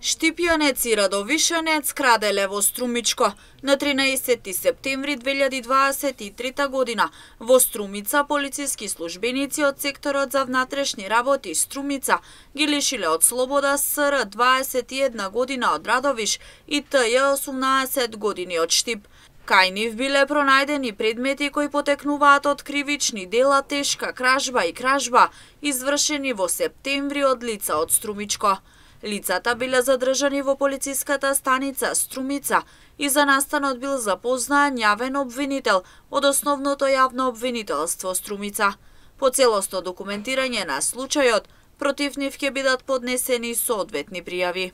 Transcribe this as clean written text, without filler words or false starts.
Штипјанец и Радовишанец краделе во Струмичко. На 13 септември 2023 година во Струмица полициски службеници од секторот за внатрешни работи Струмица ги лишиле од слобода СР 21 година од Радовиш и ТЈ 18 години од Штип. Кај нив биле пронајдени предмети кои потекнуваат од кривични дела тешка кражба и кражба, извршени во септември од лица од Струмичко. Лицата биле задржани во полициската станица Струмица и за настанот бил запознаен јавен обвинител од Основното јавно обвинителство Струмица. По целосно документирање на случајот, против нив ќе бидат поднесени соодветни пријави.